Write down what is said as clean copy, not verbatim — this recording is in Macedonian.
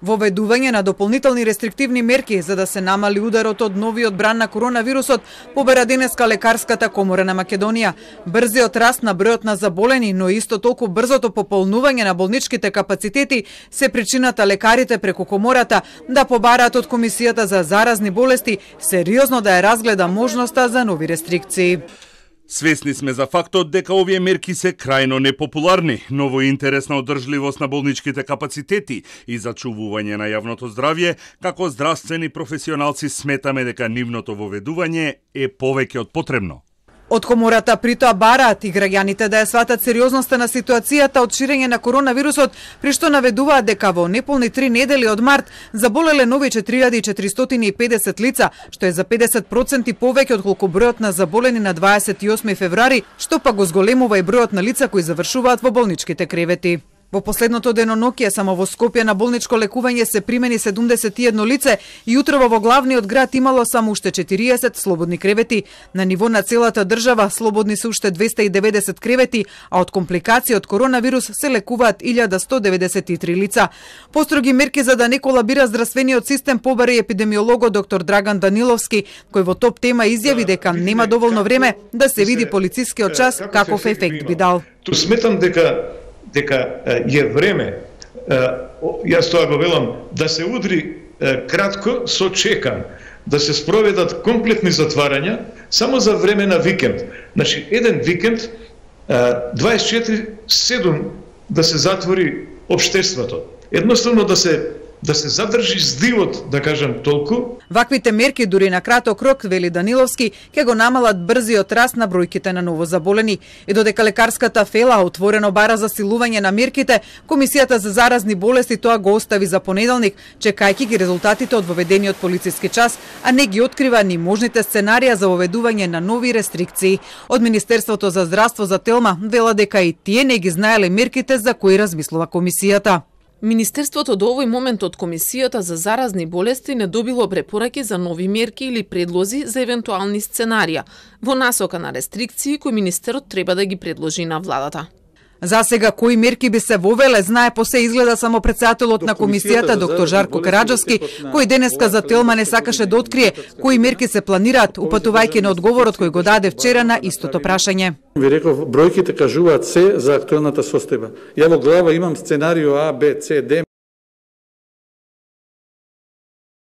Воведување на дополнителни рестриктивни мерки за да се намали ударот од новиот бран на коронавирусот побара денеска Лекарската комора на Македонија. Брзиот раст на бројот на заболени, но исто толку брзото пополнување на болничките капацитети се причината лекарите преку комората да побараат од Комисијата за заразни болести сериозно да ја разгледа можноста за нови рестрикции. Свесни сме за фактот дека овие мерки се крајно непопуларни, но во интерес на одржливост на болничките капацитети и зачувување на јавното здравје, како здравствени професионалци сметаме дека нивното воведување е повеќе од потребно. Од комората притоа бараат и граѓаните да ја сватат сериозноста на ситуацијата од ширење на коронавирусот, при што наведуваат дека во неполни 3 недели од март заболеле нови 4450 лица, што е за 50% повеќе од колку бројот на заболени на 28 февруари, што пак го зголемува и бројот на лица кои завршуваат во болничките кревети. Во последното деноноќие само во Скопје на болничко лекување се примени 71 лице и утрово во главниот град имало само уште 40 слободни кревети. На ниво на целата држава слободни се уште 290 кревети, а од компликации од коронавирус се лекуваат 1193 лица. Построги мерки за да не колабира здравствениот систем побари епидемиологот доктор Драган Даниловски, кој во топ тема изјави дека нема доволно време да се види полицискиот час каков ефект би дал. Ту сметам дека е време, јас тоа го велам, да се удри кратко со чекан, да се спроведат комплетни затварања само за време на викенд. Значи, еден викенд 24/7 да се затвори општеството. Едноставно да се задржи здивот, да кажам толку. Ваквите мерки дури на краток рок, вели Даниловски, ќе го намалат брзиот раст на бројките на новозаболени. И додека лекарската фела отворено бара за силување на мерките, Комисијата за заразни болести тоа го остави за понеделник, чекајќи ги резултатите од воведениот полициски час, а не ги открива ни можните сценарија за воведување на нови рестрикции. Од Министерството за здравство за Телма вела дека и тие не ги знаеле мерките за кои размислува Комисијата. Министерството до овој момент од Комисијата за заразни болести не добило препораки за нови мерки или предлози за евентуални сценарија во насока на рестрикции кои министерот треба да ги предложи на владата. За сега кои мерки би се вовеле, знае по се изгледа само претседателот на комисијата доктор Жарко Караджовски, кој денеска за Телма не сакаше да открие кои мерки се планираат, упатувајќи на одговорот кој го даде вчера на истото прашање. Ви реков, бројките кажуваат се за актуелната состојба. Ја во глава имам сценарио А, Б, С, Д.